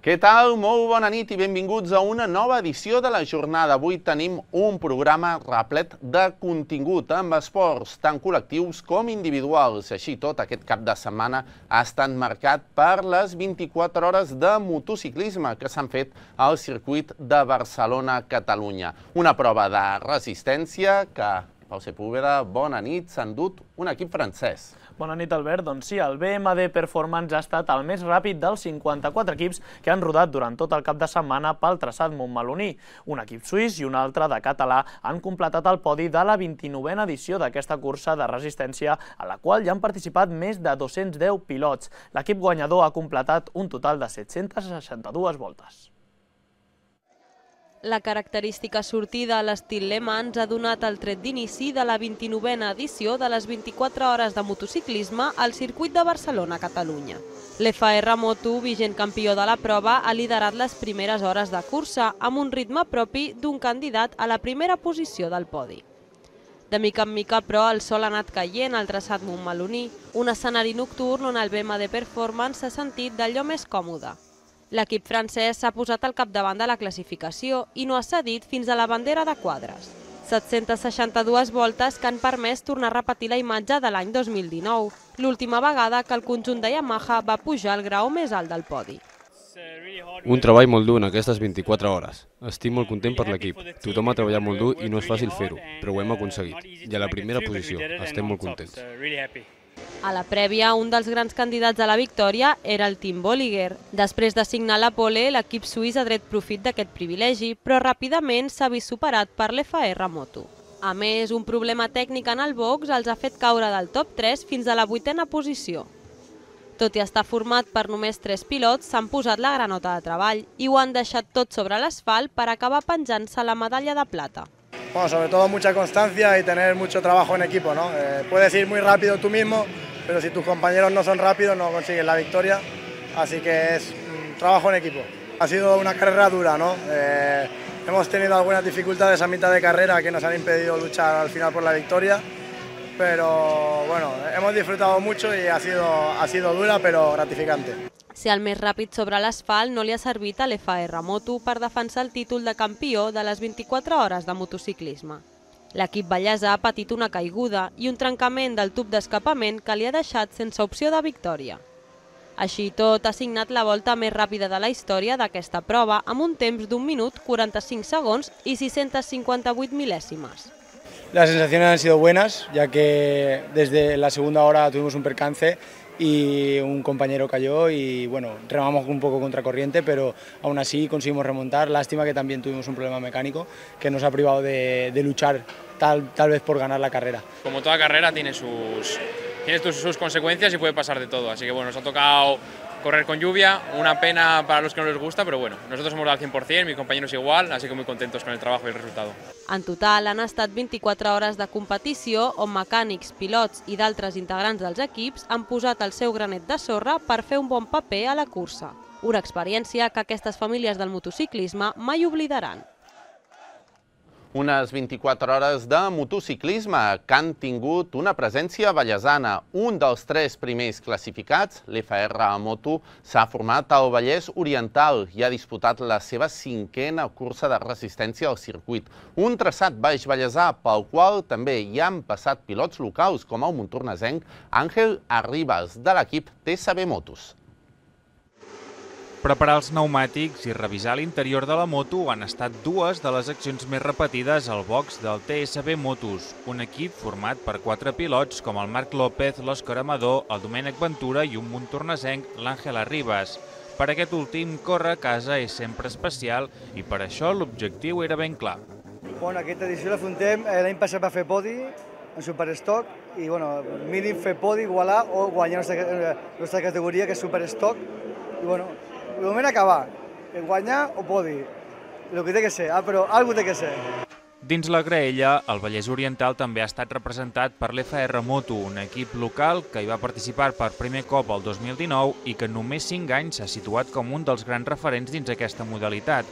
Què tal? Molt bona nit i benvinguts a una nova edició de la jornada. Avui tenim un programa replet de contingut amb esports tant col·lectius com individuals. Així tot, aquest cap de setmana ha estat marcat per les 24 hores de motociclisme que s'han fet al circuit de Barcelona-Catalunya. Una prova de resistència que, Pau Sepúlveda, bona nit, s'ha endut un equip francès. Bona nit, Albert. Doncs sí, el BMD Performance ha estat el més ràpid dels 54 equips que han rodat durant tot el cap de setmana pel traçat montmeloní. Un equip suís i un altre de català han completat el podi de la 29a edició d'aquesta cursa de resistència, a la qual ja han participat més de 210 pilots. L'equip guanyador ha completat un total de 762 voltes. La característica sortida a l'estil Le Mans ha donat el tret d'inici de la 29a edició de les 24 hores de motociclisme al circuit de Barcelona-Catalunya. L'FR Moto, vigent campió de la prova, ha liderat les primeres hores de cursa amb un ritme propi d'un candidat a la primera posició del podi. De mica en mica, però, el sol ha anat caient al traçat montmeloní, un escenari nocturn on el BMD Performance s'ha sentit d'allò més còmode. L'equip francès s'ha posat al capdavant de la classificació i no ha cedit fins a la bandera de quadres. 762 voltes que han permès tornar a repetir la imatge de l'any 2019, l'última vegada que el conjunt de Yamaha va pujar al grau més alt del podi. Un treball molt dur en aquestes 24 hores. Estic molt content per l'equip. Tothom ha treballat molt dur i no és fàcil fer-ho, però ho hem aconseguit. I a la primera posició, estem molt contents. A la prèvia, un dels grans candidats a la victòria era el Team Bolliger. Després de signar la pole, l'equip suís ha tret profit d'aquest privilegi, però ràpidament s'ha vist superat per l'FR Moto. A més, un problema tècnic en el box els ha fet caure del top 3 fins a la 8a posició. Tot i estar format per només 3 pilots, s'han posat la granota de treball i ho han deixat tot sobre l'asfalt per acabar penjant-se la medalla de plata. Bueno, sobre todo mucha constancia y tener mucho trabajo en equipo, ¿no? Puedes ir muy rápido tú mismo, pero si tus compañeros no son rápidos no consigues la victoria, así que es trabajo en equipo. Ha sido una carrera dura, ¿no? Hemos tenido algunas dificultades a mitad de carrera que nos han impedido luchar al final por la victoria, pero bueno, hemos disfrutado mucho y ha sido dura pero gratificante. Ser el més ràpid sobre l'asfalt no li ha servit a l'FR Moto per defensar el títol de campió de les 24 hores de motociclisme. L'equip ballesà ha patit una caiguda i un trencament del tub d'escapament que li ha deixat sense opció de victòria. Així tot, ha signat la volta més ràpida de la història d'aquesta prova amb un temps d'1 minut, 45 segons i 658 mil·lèsimes. Las sensaciones han sido buenas, ya que desde la segunda hora tuvimos un percance y un compañero cayó y bueno, remamos un poco contracorriente, pero aún así conseguimos remontar. Lástima que también tuvimos un problema mecánico que nos ha privado de luchar tal vez por ganar la carrera. Como toda carrera tiene sus consecuencias y puede pasar de todo, así que bueno, nos ha tocado correr con lluvia, una pena para los que no les gusta, pero bueno, nosotros hemos dado al 100%, mis compañeros igual, así que muy contentos con el trabajo y el resultado. En total han estat 24 hores de competició on mecànics, pilots i d'altres integrants dels equips han posat el seu granet de sorra per fer un bon paper a la cursa. Una experiència que aquestes famílies del motociclisme mai oblidaran. Unes 24 hores de motociclisme que han tingut una presència vallesana. Un dels 3 primers classificats, l'FR Moto, s'ha format al Vallès Oriental i ha disputat la seva 5a cursa de resistència al circuit. Un traçat baix vallesà pel qual també hi han passat pilots locals com el montornesenc Àngel Arribas de l'equip TSB Motos. Preparar els pneumàtics i revisar l'interior de la moto han estat dues de les accions més repetides al box del TSB Motos, un equip format per 4 pilots com el Marc López, l'Òscar Amador, el Domènec Ventura i un montornesenc, l'Àngel Arribas. Per aquest últim, córrer a casa és sempre especial i per això l'objectiu era ben clar. Bueno, aquesta edició l'afrontem, l'any passat va fer podi en Superstock i bueno, mínim fer podi, igualar o guanyar nostra categoria que és Superstock i bueno, de moment acabar, guanyar o podi, el que té que ser, però alguna té que ser. Dins la graella, el Vallès Oriental també ha estat representat per l'FR Moto, un equip local que hi va participar per primer cop el 2019 i que en només 5 anys s'ha situat com un dels grans referents dins aquesta modalitat.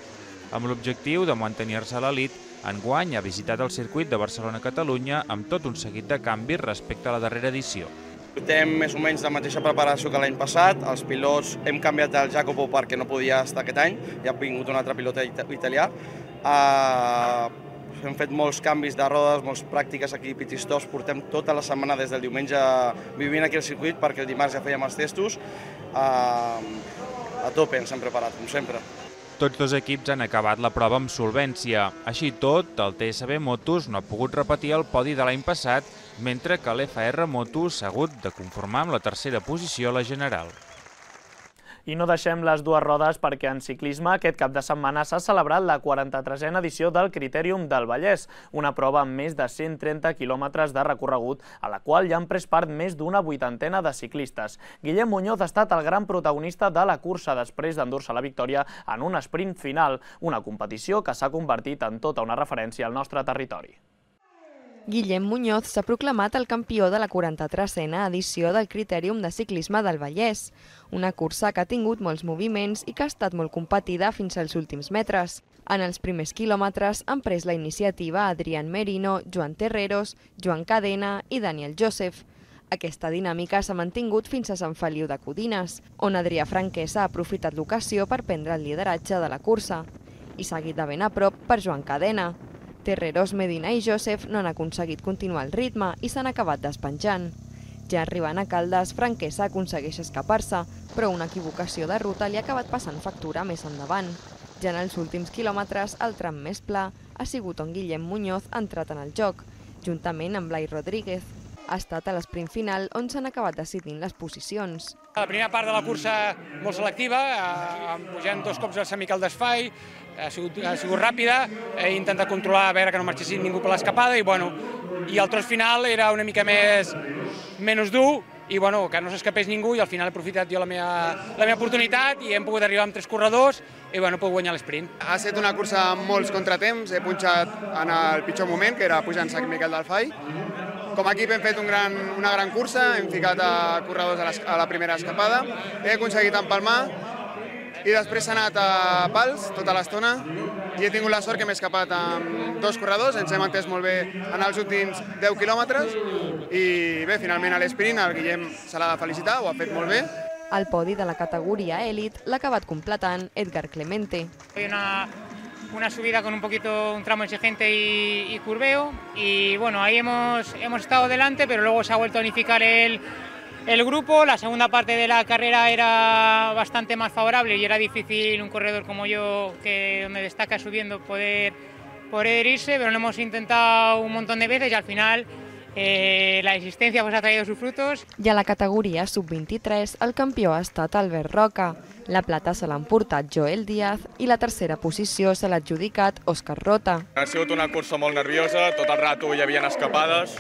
Amb l'objectiu de mantenir-se a l'elit, enguany ha visitat el circuit de Barcelona-Catalunya amb tot un seguit de canvis respecte a la darrera edició. Portem més o menys la mateixa preparació que l'any passat. Els pilots hem canviat el Jacopo perquè no podia estar aquest any, i ha vingut un altre pilot italià. Hem fet molts canvis de rodes, moltes pràctiques aquí a pit-stops. Portem tota la setmana des del diumenge vivint aquí al circuit perquè el dimarts ja fèiem els testos. A tope ens hem preparat, com sempre. Tots dos equips han acabat la prova amb solvència. Així tot, el TSB Motos no ha pogut repetir el podi de l'any passat, mentre que l'FR Motos s'ha hagut de conformar amb la tercera posició a la general. I no deixem les dues rodes perquè en ciclisme aquest cap de setmana s'ha celebrat la 43a edició del Critèrium del Vallès, una prova amb més de 130 quilòmetres de recorregut a la qual hi han pres part més d'una 80ena de ciclistes. Guillem Muñoz ha estat el gran protagonista de la cursa després d'endur-se la victòria en un sprint final, una competició que s'ha convertit en tota una referència al nostre territori. Guillem Muñoz s'ha proclamat el campió de la 43a edició del Critèrium de Ciclisme del Vallès, una cursa que ha tingut molts moviments i que ha estat molt competida fins als últims metres. En els primers quilòmetres han pres la iniciativa Adrián Merino, Joan Terreros, Joan Cadena i Daniel Joseph. Aquesta dinàmica s'ha mantingut fins a Sant Feliu de Codines, on Adrià Franquesa ha aprofitat l'ocasió per prendre el lideratge de la cursa, i seguit de ben a prop per Joan Cadena. Terreros, Medina i Joseph no han aconseguit continuar el ritme i s'han acabat despenjant. Ja arribant a Caldes, Franquesa aconsegueix escapar-se, però una equivocació de ruta li ha acabat passant factura més endavant. Ja en els últims quilòmetres, el tram més pla ha sigut on Guillem Muñoz ha entrat en el joc, juntament amb Blai Rodríguez. Ha estat a l'esprint final on s'han acabat decidint les posicions. La primera part de la cursa molt selectiva, pujant 2 cops al Sant Miquel d'Esfai, ha sigut ràpida, he intentat controlar a veure que no marxessin ningú per l'escapada i el tros final era una mica menys dur i que no s'escapés ningú, i al final he aprofitat jo la meva oportunitat i hem pogut arribar amb 3 corredors i he pogut guanyar l'esprint. Ha estat una cursa amb molts contratemps, he punxat en el pitjor moment, que era pujant Sant Miquel del Fai. Com a equip hem fet una gran cursa, hem ficat a corredors a la primera escapada, he aconseguit empalmar i després s'ha anat a pals tota l'estona i he tingut la sort que m'he escapat amb 2 corredors, ens hem entès molt bé en els últims 10 quilòmetres i bé, finalment a l'esprint el Guillem se l'ha de felicitar, ho ha fet molt bé. El podi de la categoria Elite l'ha acabat completant Edgar Clemente. Una subida con un tramo exigente y curveo y ahí hemos estado delante, pero luego se ha vuelto a unificar el grupo. La segunda parte de la carrera era bastante más favorable y era difícil un corredor como yo, que donde destaca subiendo, poder irse, pero lo hemos intentado un montón de veces y al final la existència ha traído sus frutos. I a la categoria sub-23 el campió ha estat Albert Roca. La plata se l'ha emportat Joel Díaz i la tercera posició se l'ha adjudicat Òscar Rota. Ha sigut una cursa molt nerviosa, tot el rato hi havia escapades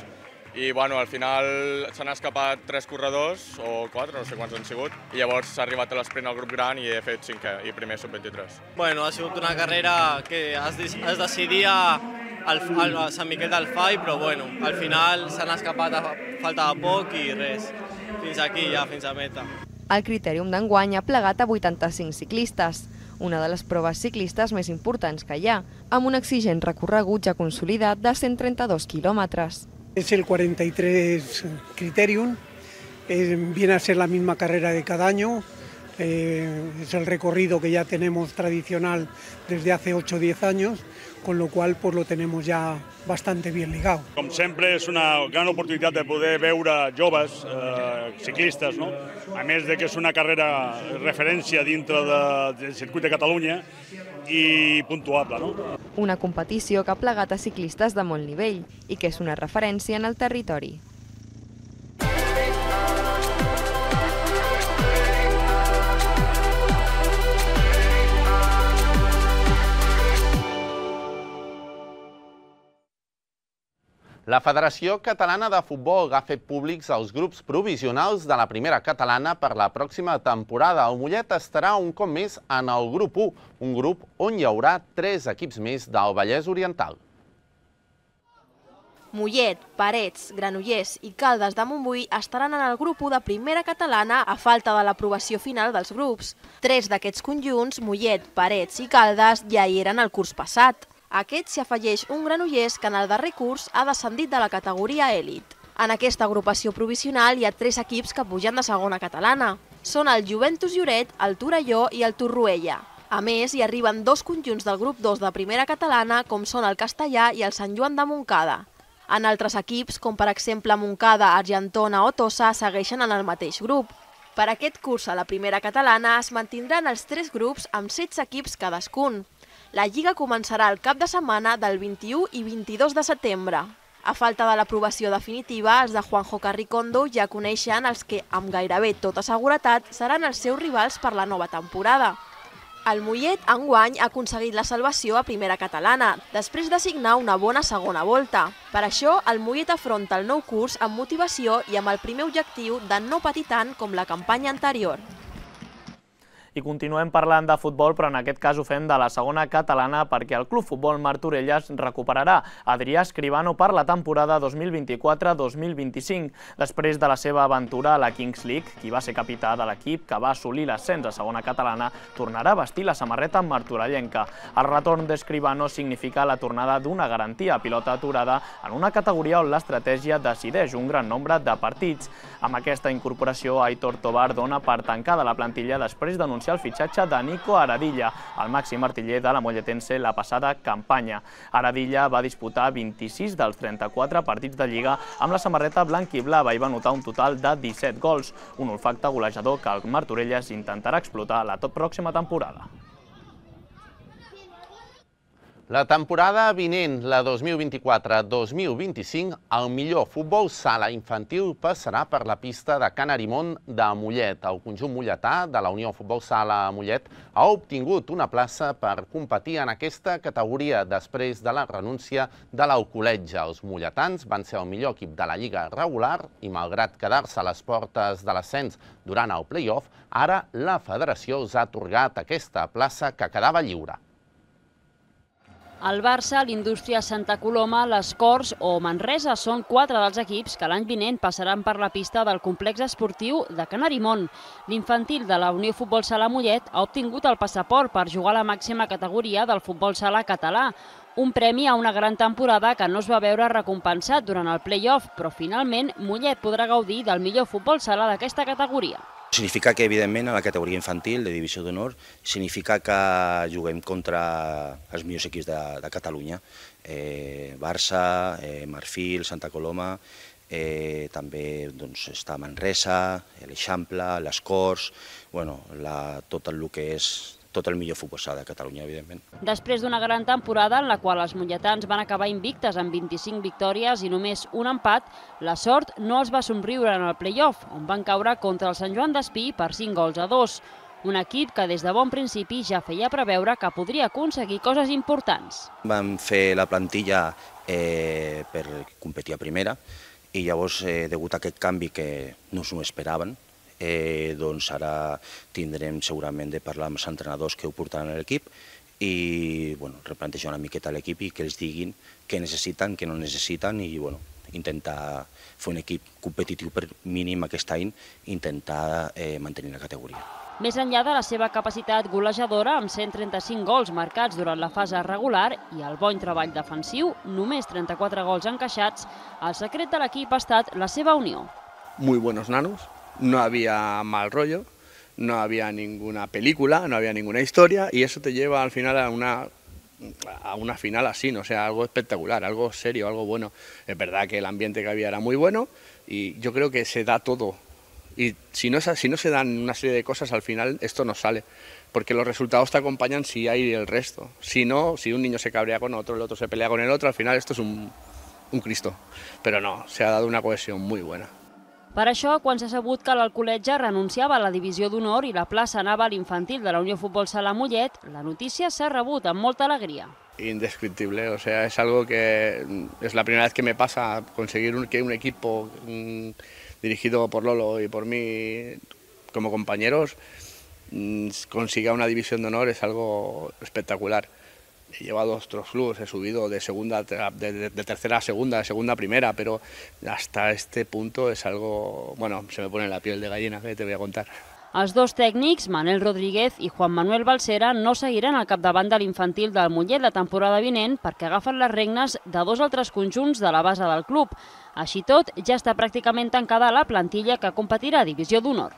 i al final s'han escapat 3 corredors o 4, no sé quants han sigut, i llavors s'ha arribat a l'esprint al grup gran i he fet 5è i primer sub-23. Ha sigut una carrera que es decidia al Sant Miquel del Fai, però al final s'han escapat a falta de poc i res, fins aquí ja, fins a meta. El Critèrium d'enguany ha plegat a 85 ciclistes, una de les proves ciclistes més importants que hi ha, amb un exigent recorregut ja consolidat de 132 quilòmetres. Es el 43 Critèrium, viene a ser la misma carrera de cada año, es el recorrido que ya tenemos tradicional desde hace 8 o 10 años, con lo cual pues lo tenemos ya bastante bien ligado. Com sempre és una gran oportunitat de poder veure joves ciclistes, no? A més de que és una carrera referència dintre del circuit de Catalunya i puntuable, no? Una competició que ha plegat a ciclistes de molt nivell i que és una referència en el territori. La Federació Catalana de Futbol ha fet públics els grups provisionals de la primera catalana per la pròxima temporada. El Mollet estarà un cop més en el grup 1, un grup on hi haurà 3 equips més del Vallès Oriental. Mollet, Parets, Granollers i Caldes de Montbui estaran en el grup 1 de primera catalana a falta de l'aprovació final dels grups. 3 d'aquests conjunts, Mollet, Parets i Caldes, ja hi eren el curs passat. A aquest s'hi afegeix un Granollers que en el darrer curs ha descendit de la categoria èlit. En aquesta agrupació provisional hi ha 3 equips que pugen de segona catalana. Són el Juventus Lloret, el Torelló i el Torroella. A més, hi arriben 2 conjunts del grup 2 de primera catalana, com són el Castellà i el Sant Joan de Montcada. En altres equips, com per exemple Montcada, Argentona o Tossa, segueixen en el mateix grup. Per aquest curs a la primera catalana es mantindran els 3 grups amb 16 equips cadascun. La Lliga començarà el cap de setmana del 21 i 22 de setembre. A falta de l'aprovació definitiva, els de Juanjo Carricondo ja coneixen els que, amb gairebé tota seguretat, seran els seus rivals per la nova temporada. El Mollet, enguany, ha aconseguit la salvació a primera catalana, després de signar una bona segona volta. Per això, el Mollet afronta el nou curs amb motivació i amb el primer objectiu de no patir tant com la campanya anterior. I continuem parlant de futbol, però en aquest cas ho fem de la segona catalana perquè el Club Futbol Martorelles recuperarà Adrià Escribano per la temporada 2024-2025. Després de la seva aventura a la Kings League, qui va ser capità de l'equip que va assolir l'ascens a segona catalana, tornarà a vestir la samarreta martorellenca. El retorn d'Escribano significa la tornada d'una garantia pilota aturada en una categoria on l'estratègia decideix un gran nombre de partits. Amb aquesta incorporació, Aitor Tobar dona per tancada la plantilla després d'anunciar el fitxatge de Nico Aradilla, el màxim artiller de la molletense la passada campanya. Aradilla va disputar 26 dels 34 partits de Lliga amb la samarreta blanc-i-blava i va anotar un total de 17 gols, un olfacte golejador que el Martorelles intentarà explotar la pròxima temporada. La temporada vinent, la 2024-2025, el millor futbol sala infantil passarà per la pista de Can Arimon de Mollet. El conjunt molletà de la Unió Futbol Sala Mollet ha obtingut una plaça per competir en aquesta categoria després de la renúncia de l'Alcoletge. Els molletans van ser el millor equip de la Lliga regular i, malgrat quedar-se a les portes de l'ascens durant el play-off, ara la federació els ha atorgat aquesta plaça que quedava lliure. El Barça, l'Indústria Santa Coloma, les Corts o Manresa són 4 dels equips que l'any vinent passaran per la pista del complex esportiu de Can Arimon. L'infantil de la Unió Futbol Sala Mollet ha obtingut el passaport per jugar a la màxima categoria del futbol sala català, un premi a una gran temporada que no es va veure recompensat durant el play-off, però finalment Mollet podrà gaudir del millor futbol sala d'aquesta categoria. Significa que, evidentment, a la categoria infantil de divisió d'honor, significa que juguem contra els millors equips de Catalunya. Barça, Marfil, Santa Coloma, també està Manresa, l'Eixample, les Corts, tot el que és tot el millor futbol sala de Catalunya, evidentment. Després d'una gran temporada en la qual els molletans van acabar invictes amb 25 victòries i només un empat, la sort no els va somriure en el play-off, on van caure contra el Sant Joan d'Espí per 5-2. Un equip que des de bon principi ja feia preveure que podria aconseguir coses importants. Vam fer la plantilla per competir a primera i llavors, degut a aquest canvi que no s'ho esperaven, doncs ara tindrem segurament de parlar amb els entrenadors que ho portaran a l'equip i replantejar una miqueta l'equip i que els diguin què necessiten, què no necessiten i intentar fer un equip competitiu per mínim aquest any i intentar mantenir la categoria. Més enllà de la seva capacitat golejadora, amb 135 gols marcats durant la fase regular i el bon treball defensiu, només 34 gols encaixats, el secret de l'equip ha estat la seva unió. Muy buenos nanos. No había mal rollo, no había ninguna película, no había ninguna historia y eso te lleva al final a una final así, ¿no? O sea, algo espectacular, algo serio, algo bueno. Es verdad que el ambiente que había era muy bueno y yo creo que se da todo. Y si no se dan una serie de cosas, al final esto no sale, porque los resultados te acompañan si hay el resto. Si no, si un niño se cabrea con otro, el otro se pelea con el otro, al final esto es un Cristo. Pero no, se ha dado una cohesión muy buena. Per això, quan s'ha sabut que l'Alcoletge renunciava a la divisió d'honor i la plaça anava a l'infantil de la Unió Futbol Sala Mollet, la notícia s'ha rebut amb molta alegria. Indescriptible, o sea, es algo que es la primera vez que me pasa, conseguir que un equipo dirigido por Lolo y por mí como compañeros consiga una división de honor es algo espectacular. He llevado otros clubes, he subido de tercera a segunda, de segunda a primera, pero hasta este punto es algo, se me pone la piel de gallina, que te voy a contar. Els dos tècnics, Manel Rodríguez i Juan Manuel Balsera, no seguiran al capdavant de l'infantil del Mollet la temporada vinent perquè agafen les regnes de dos altres conjunts de la base del club. Així tot, ja està pràcticament tancada la plantilla que competirà a Divisió d'Honor.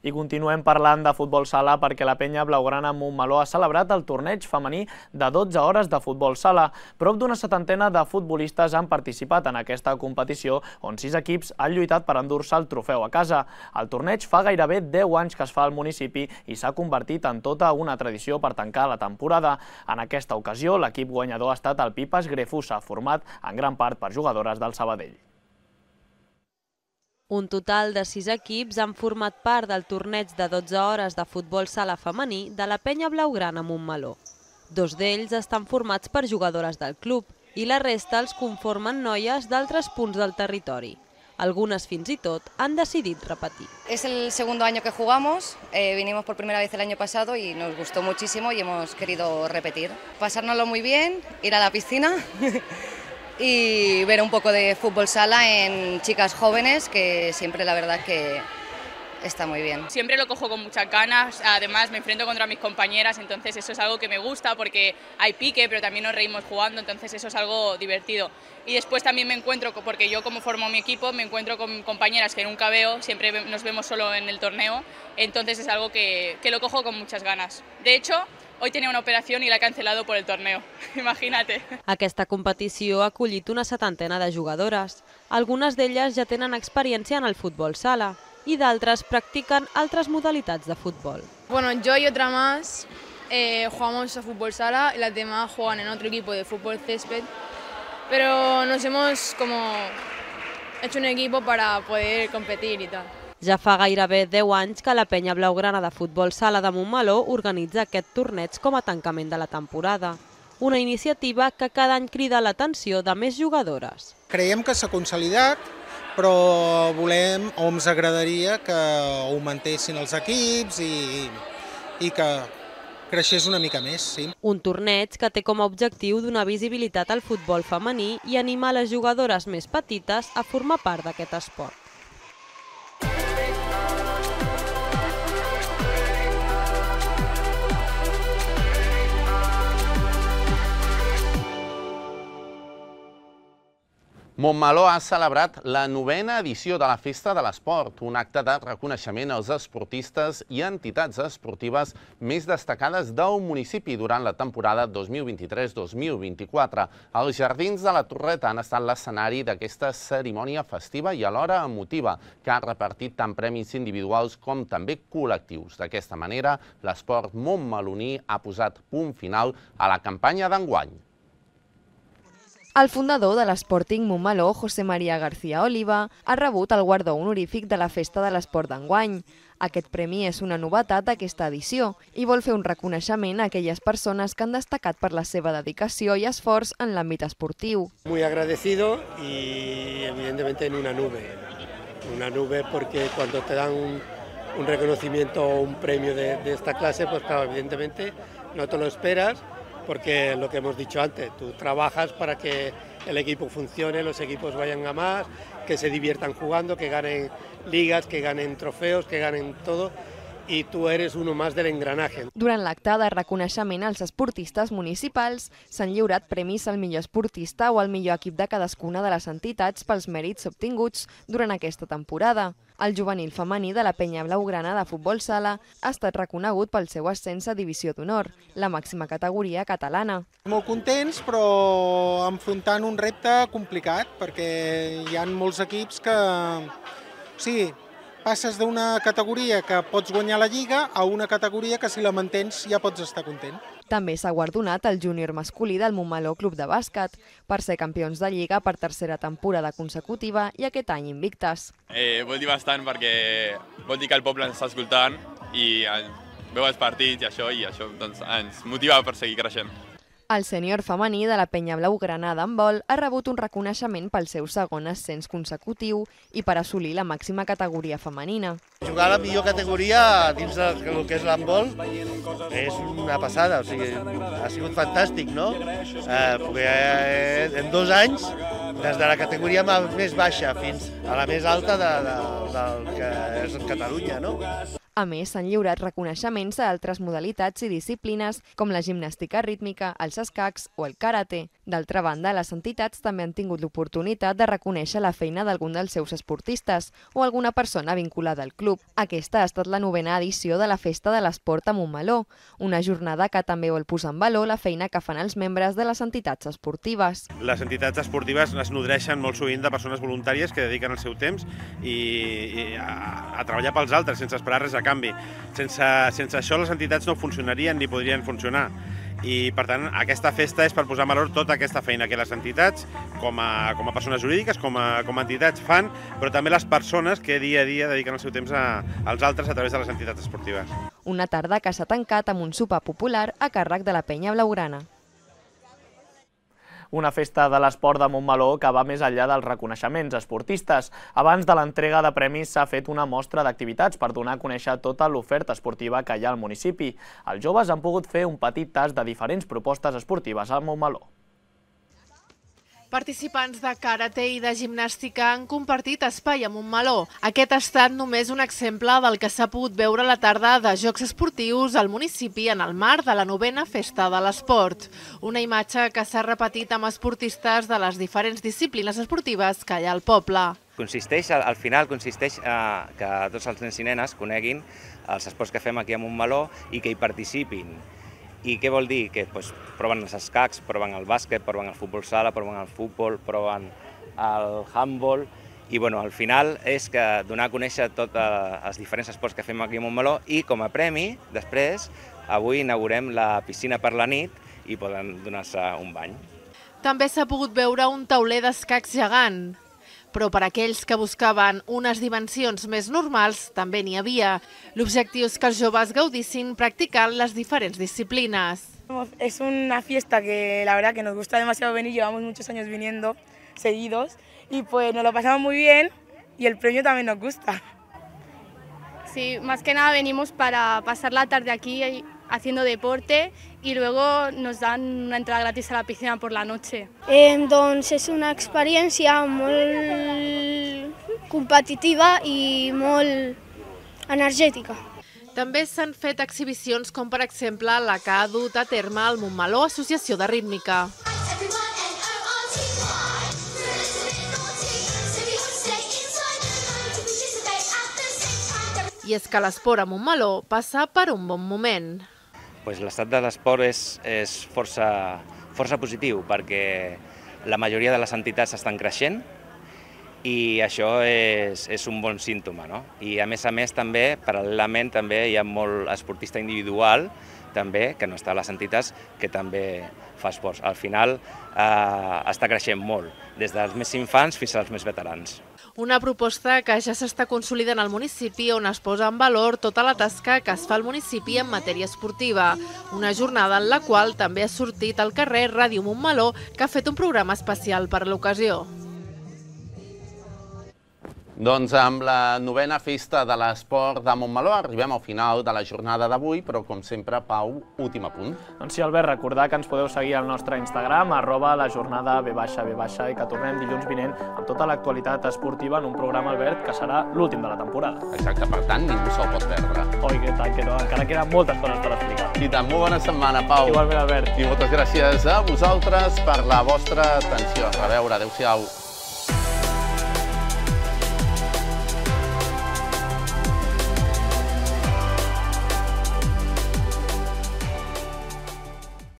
I continuem parlant de futbol sala perquè la penya blaugrana Montmeló ha celebrat el torneig femení de 12 hores de futbol sala. Prop d'una setantena de futbolistes han participat en aquesta competició, on 6 equips han lluitat per endur-se el trofeu a casa. El torneig fa gairebé 10 anys que es fa al municipi i s'ha convertit en tota una tradició per tancar la temporada. En aquesta ocasió, l'equip guanyador ha estat el Pipas Grefusa, format en gran part per jugadores del Sabadell. Un total de 6 equips han format part del torneig de 12 hores de futbol sala femení de la penya blaugrana Montmeló. 2 d'ells estan formats per jugadores del club i la resta els conformen noies d'altres punts del territori. Algunes fins i tot han decidit repetir. Es el segundo año que jugamos, vinimos por primera vez el año pasado y nos gustó muchísimo y hemos querido repetir. Pasárnoslo muy bien, ir a la piscina y ver un poco de fútbol sala en chicas jóvenes, que siempre la verdad que está muy bien. Siempre lo cojo con muchas ganas, además me enfrento contra mis compañeras, entonces eso es algo que me gusta porque hay pique, pero también nos reímos jugando, entonces eso es algo divertido. Y después también me encuentro, porque yo como formo mi equipo, me encuentro con compañeras que nunca veo, siempre nos vemos solo en el torneo, entonces es algo que lo cojo con muchas ganas. De hecho, hoy tenía una operación y la he cancelado por el torneo, imagínate. Aquesta competició ha acollit una setantena de jugadores. Algunes d'elles ja tenen experiència en el futbol sala i d'altres practiquen altres modalitats de futbol. Bueno, yo y otra más jugamos a fútbol sala y las demás juegan en otro equipo de fútbol césped, pero nos hemos hecho un equipo para poder competir y tal. Ja fa gairebé 10 anys que la penya blaugrana de futbol sala de Montmeló organitza aquest torneig com a tancament de la temporada. Una iniciativa que cada any crida l'atenció de més jugadores. Creiem que s'ha consolidat, però volem o ens agradaria que augmentessin els equips i que creixés una mica més. Sí. Un torneig que té com a objectiu donar visibilitat al futbol femení i animar les jugadores més petites a formar part d'aquest esport. Montmeló ha celebrat la 9ª edició de la Festa de l'Esport, un acte de reconeixement als esportistes i entitats esportives més destacades del municipi durant la temporada 2023-2024. Els jardins de la Torreta han estat l'escenari d'aquesta cerimònia festiva i alhora emotiva, que ha repartit tant premis individuals com també col·lectius. D'aquesta manera, l'esport montmeloní ha posat punt final a la campanya d'enguany. El fundador de l'Sporting Montmeló, José María García Oliva, ha rebut el guardó honorífic de la Festa de l'Esport d'enguany. Aquest premi és una novetat d'aquesta edició i vol fer un reconeixement a aquelles persones que han destacat per la seva dedicació i esforç en l'àmbit esportiu. Muy agradecido y evidentemente en una nube porque cuando te dan un reconocimiento o un premio de esta clase, pues claro, evidentemente no te lo esperas, porque lo que hemos dicho antes, tú trabajas para que el equipo funcione, los equipos vayan a más, que se diviertan jugando, que ganen ligas, que ganen trofeos, que ganen todo, i tu eres uno más del engranaje. Durant l'acte de reconeixement als esportistes municipals s'han lliurat premis al millor esportista o al millor equip de cadascuna de les entitats pels mèrits obtinguts durant aquesta temporada. El juvenil femení de la penya blaugrana de futbol sala ha estat reconegut pel seu ascens a Divisió d'Honor, la màxima categoria catalana. Molt contents, però enfrontant un repte complicat, perquè hi ha molts equips que... Sí, passes d'una categoria que pots guanyar la Lliga a una categoria que si la mantens ja pots estar content. També s'ha guardonat el júnior masculí del Montmeló Club de Bàsquet per ser campions de Lliga per tercera temporada consecutiva i aquest any invictes. Vol dir bastant perquè vol dir que el poble ens està escoltant i veu els partits i això ens motiva per seguir creixent. El sènior femení de la Penya Blaugrana d'handbol ha rebut un reconeixement pel seu segon ascens consecutiu i per assolir la màxima categoria femenina. Jugar a la millor categoria dins del que és l'handbol és una passada, o sigui, ha sigut fantàstic, no? En 2 anys, des de la categoria més baixa fins a la més alta del que és Catalunya, no? A més, s'han lliurat reconeixements a altres modalitats i disciplines com la gimnàstica rítmica, els escacs o el karate. D'altra banda, les entitats també han tingut l'oportunitat de reconèixer la feina d'algun dels seus esportistes o alguna persona vinculada al club. Aquesta ha estat la 9ª edició de la Festa de l'Esport a Montmeló, una jornada que també vol posar en valor la feina que fan els membres de les entitats esportives. Les entitats esportives es nodreixen molt sovint de persones voluntàries que dediquen el seu temps a treballar pels altres sense esperar res a canvi. Sense això les entitats no funcionarien ni podrien funcionar. I, per tant, aquesta festa és per posar en valor tota aquesta feina que les entitats, com a persones jurídiques, com a entitats, fan, però també les persones que dia a dia dediquen el seu temps als altres a través de les entitats esportives. Una tarda que s'ha tancat amb un sopar popular a càrrec de la Penya Blaugrana. Una festa de l'esport de Montmeló que va més enllà dels reconeixements esportistes. Abans de l'entrega de premis s'ha fet una mostra d'activitats per donar a conèixer tota l'oferta esportiva que hi ha al municipi. Els joves han pogut fer un petit tast de diferents propostes esportives al Montmeló. Participants de karate i de gimnàstica han compartit espai a Montmeló. Aquest ha estat només un exemple del que s'ha pogut veure a la tarda de jocs esportius al municipi en el marc de la 9ª Festa de l'Esport. Una imatge que s'ha repetit amb esportistes de les diferents disciplines esportives que hi ha al poble. Al final consisteix que tots els nens i nenes coneguin els esports que fem aquí a Montmeló i que hi participin. I què vol dir? Que proven els escacs, proven el bàsquet, proven el futbol sala, proven el futbol, proven el handball. I al final és donar a conèixer tots els diferents esports que fem aquí a Montmeló i com a premi, després, avui inaugurem la piscina per la nit i poden donar-se un bany. També s'ha pogut veure un tauler d'escacs gegant. Però per aquells que buscaven unes dimensions més normals també n'hi havia. L'objectiu és que els joves gaudissin practicant les diferents disciplines. Es una fiesta que la verdad que nos gusta demasiado venir, llevamos muchos años viniendo seguidos y pues nos lo pasamos muy bien y el premio también nos gusta. Sí, más que nada venimos para pasar la tarde aquí haciendo deporte y luego nos dan una entrada gratis a la piscina por la noche. Doncs és una experiència molt competitiva i molt energètica. També s'han fet exhibicions com per exemple la que ha dut a terme el Montmeló Associació de Rítmica. I és que l'esport a Montmeló passa per un bon moment. L'estat de l'esport és força positiu perquè la majoria de les entitats estan creixent i això és un bon símptoma. I a més també, paral·lelament, també hi ha molt esportista individual també que no està a les entitats que també fa esports. Al final està creixent molt, des dels més infants fins als més veterans. Una proposta que ja s'està consolidant al municipi on es posa en valor tota la tasca que es fa al municipi en matèria esportiva. Una jornada en la qual també ha sortit al carrer Ràdio Montmeló, que ha fet un programa especial per l'ocasió. Doncs amb la 9ª Festa de l'Esport de Montmeló arribem al final de la jornada d'avui, però com sempre, Pau, últim apunt. Doncs sí, Albert, recordar que ens podeu seguir al nostre Instagram, @lajornada_b_ i que tornem dilluns vinent amb tota l'actualitat esportiva en un programa, Albert, que serà l'últim de la temporada. Exacte, per tant, ningú se'l pot perdre. Oi, que tant, que no, encara queden moltes coses per explicar. I tant, molt bona setmana, Pau. Igualment, Albert. I moltes gràcies a vosaltres per la vostra atenció. A reveure, adéu-siau.